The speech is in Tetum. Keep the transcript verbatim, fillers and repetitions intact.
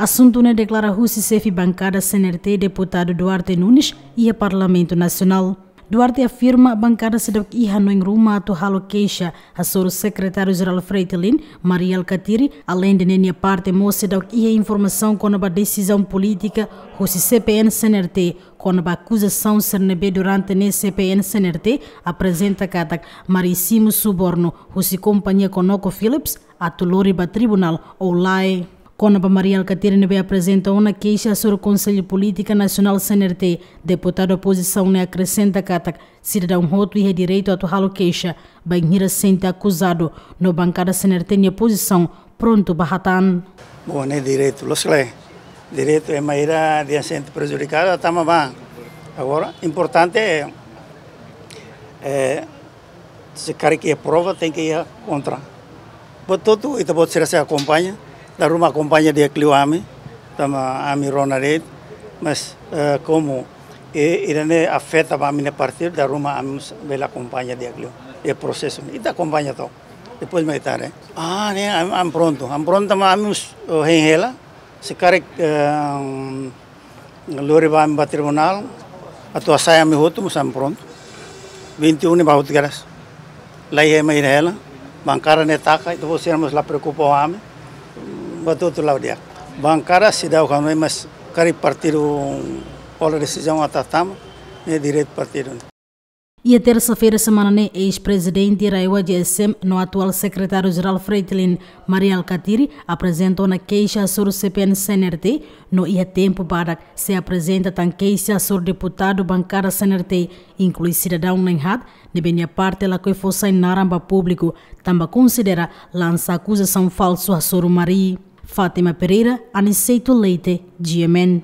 Asuntu ne'e deklara husi xefe bankada C N R T, Deputadu Duarte Nunes, iha Parlamentu Nasionál. Duarte afirma bankada seidauk iha hanoin ruma atu halo keixa hasoru Sekretáriu Jerál Fretilin, Mari Alkatiri, aleinde ne'e nia parte mós seidauk iha informasaun kona-ba desizaun polítika husi C P N C N R T kona-ba akuzasaun sira ne'ebé durante ne'e C P N C N R T aprezenta katak Mari simu subornu husi kompañia ConocoPhillips atu lori ba tribunál ou lae. Kona-ba Mari Alkatiri ne'ebé aprezenta ona keixa hasoru Konsellu Polítika Nasionál C N R T, deputadu opozisaun ne'e akresenta katak sidadaun hotu iha direitu atu halo keixa, bainhira sente akuzadu, no bankada C N R T nia pozisaun prontu ba hatán. Bom, ne'e direitu, loos ka lae? Direitu ema ida dehan sente prejudikadu, tama ba. Agora, importante é, é, se karik iha prova, tenke iha kontra. Buat hotu, ita-boot sira sei akompaña, dala ruma akompaña di'ak liu ami, tanba ami rona de'it, mas, eh, komu, eh, ida-ne'e afeta ba ami-nia partidu, dala ruma ami mós bele akompaña di'ak liu, eh, prosesu, ita akompaña to'o. Depois mak ita haree. Ah, ne'e, ami, ami prontu, ami prontu, mas ami mós, oh, hein hela, se karik, eh, lori ba ami ba tribunál, atu hasai ami hotu, mós ami prontu. Vinte e um ne'e ba hotu kedas. La iha ema ida hela, bankada ne'e taka, ita-boot sira mós la preokupa ho ami, buat hotu la'o di'ak. Bankada seidauk hanoin, mas karik partidu hola desizaun atu tama, ne'e direitu partidu. Iha tersa-feira semana ne'e, eis-prezidente RAEOA G S M no atuál Sekretáriu Jerál Fretilin, Mari Alkatiri, aprezenta ona keixa hasoru C P N C N R T, no iha tempu badak sei aprezenta tan keixa hasoru deputadu bankada C N R T, inklui sidadaun na'in-haat, ne'ebé nia parte lakohi fó sai naran ba públiku, tanba konsidera lansa akuzasaun falsu hasoru Mari. Fátima Pereira, Aniceto Leite, G M N.